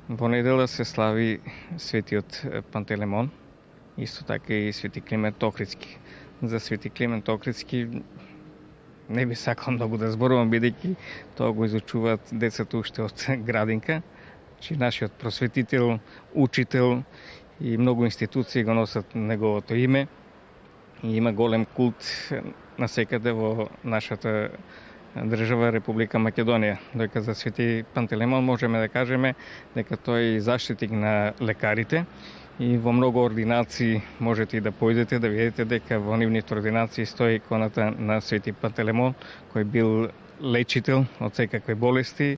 Во недела се слави светиот Пантелеймон, исто така и свети Климент Охридски. За свети Климент Охридски не би сакал многу да зборувам, бидејќи тоа го изучуваат децата уште од градинка, че нашиот просветител, учител и многу институции го носат неговото име и има голем култ насекаде во нашата држава Република Македонија. Дојка за свети Пантелеймон можеме да кажеме дека тој е заштитник на лекарите и во многу ординации можете и да појдете да видите дека во нивните ординации стои иконата на свети Пантелеймон, кој бил лечител од секакви болести.